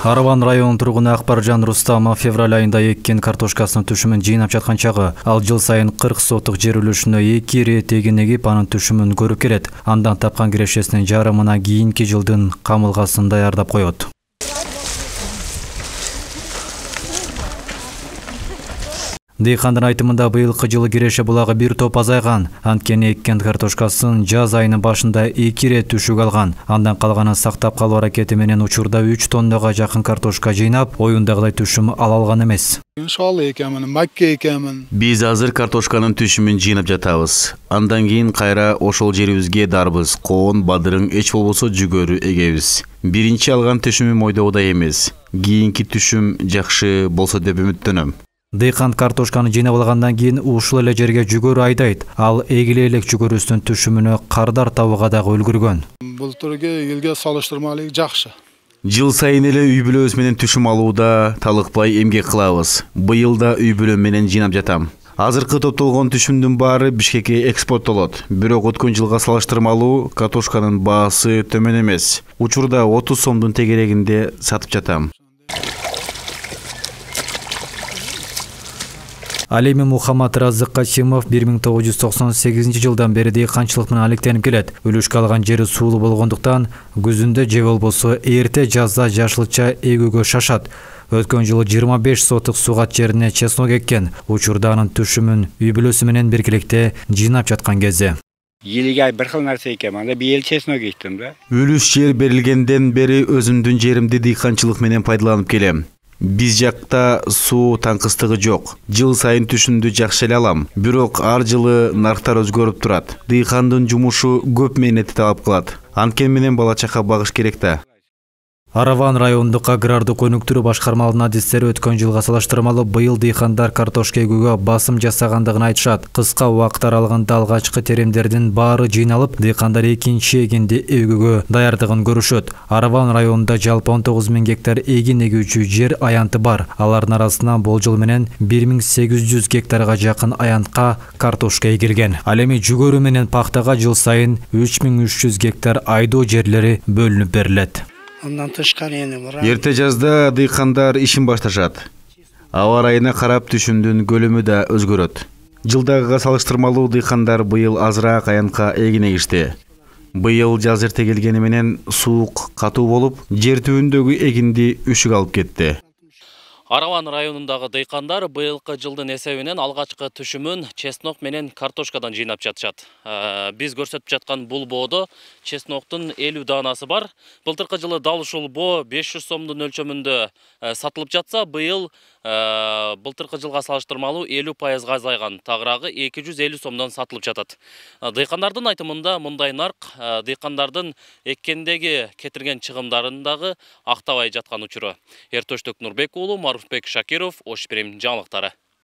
Араван районунун тургуну Акбаржан Рустамов февраль айында эккен картошкасынын түшүмүн жыйнап жаткан чагы ал жыл сайын 40 сотук жер үлүшүнө 2 ирет эгин эгип анын түшүмүн көрүп келет. Андан тапкан кирешесинин жарымына кийинки жылдын камылгасын даярдап коет. Дыйкандын айтымында быйылкы жылы киреше булагы бир топ азайган. Анткени эккен картошкасын жаз айынын башында 2 ирет түшүк алган. Андан калганын сактап калуу аракети менен учурда 3 тоннага жакын картошка жыйнап, оюндагыдай түшүм ала алган эмес. Шалы экенмин, макке экенмин. Биз азыр картошканын түшүмүн жыйнап жатабыз. Андан кийин кайра ошол жерибизге дарбыз, коон, бадырың, эч болбосо жүгөрү эгебиз. Биринчи алган түшүмүм ойдогудай эмес. Кийинки түшүм жакшы болсо деп үмүттөнөм. Дыйкан картошканы жыйнап алгандан кийин ушул эле жерге жүгөрү айдайт. Ал эгиле элек жүгөрүсүнүн түшүмүнө кардар табууга дагы үлгүргөн. Былтыркы жылга салыштырмалуу жакшы. Жыл сайын эле үй бүлөбүз менен түшүм алууда талыкпай эмгек кылабыз. Быйыл да үй бүлөм менен жыйнап жатам. Азыркы топтолгон түшүмдүн баары Бишкекке экспорттолот. Бирок өткөн жылга салыштырмалуу картошканын баасы төмөн эмес. Учурда 30 сомдун тегерегинде сатып жатам. Ал эми Мухаммад Разык Касимов 1998 жылдан бери дыйканчылык менен алектенип келет. Үлүшкө алган жери суулуу болгондуктан күзүндө же болбосо эрте жазда жашылча эгүүгө шашат. Өткөн жылы 25 сотук сугат жерине чеснок эккен. Учурда анын түшүмүн үй бүлөсү менен биргеликте жыйнап жаткан кезде. Елге bir xil narsa ekan, анда бийел чеснок эктим да. Үлүш жер берилгенден бери өзүмдүн жеримди дыйканчылык менен пайдаланып келем. Биз жакта суу таңкыстыгы жок. Жыл сайын түшүмдү жакшы эле алам. Бирок ар жылы нарктар өзгөрүп турат. Дыйкандын жумушу көп мээнетти талап кылат. Анткени менен бала чака багыш керек да. Араван райондук агрардык өнүктүрүү башкармаларынын адистери өткөн жылга салыштырмалуу быйыл дыйкандар картошка эгүүгө басым жасагандыгын айтышат. Кыска убакыт аралыгында алгачкы теремдердин баары жыйналып, дыйкандар экинчи эгинди эгүүгө даярдыгын көрүшөт. Араван районунда жалпы 19 000 гектар эгин эгүүчү жер аянты бар. Алардын арасынан болжол менен 1800 гектарга жакын аянтка картошка эгилген. Ал эми жүгөрү менен пахтага жыл сайын 3300 гектар айдоо жерлери бөлүнүп берилет. Эрте жазда дыйкандар ишин башташат. Аба ырайына карап түшүмдүн көлөмү да өзгөрөт. Жылдагыга салыштырмалуу дыйкандар быйыл азыраак аянтка эгин эгишти. Быйыл жаз эрте келгени менен суук катуу болуп, жер түбүндөгү эгинди үшүк алып кетти. Араван районундагы дыйкандар быйылкы жылдын эсебинен алгачкы түшүмүн чеснок менен картошкадан жыйнап жатышат. Биз көрсөтүп жаткан бул боодо чесноктун 50 даанасы бар. Былтыркы жылы дал ушул боо 500 сомдун өлчөмүндө сатылып жатса, быйыл былтыркы жылга салыштырмалуу 50% азайган. Тагыраагы 250 сомдон сатылып жатат. Дыйкандардын айтымында мындай нарк дыйкандардын эккендеги кетирген чыгымдарын дагы актабай жаткан учуру. Эртөштүк Нурбек уулу, Марфбек Шакиров, Ош Прим жаңылыктары.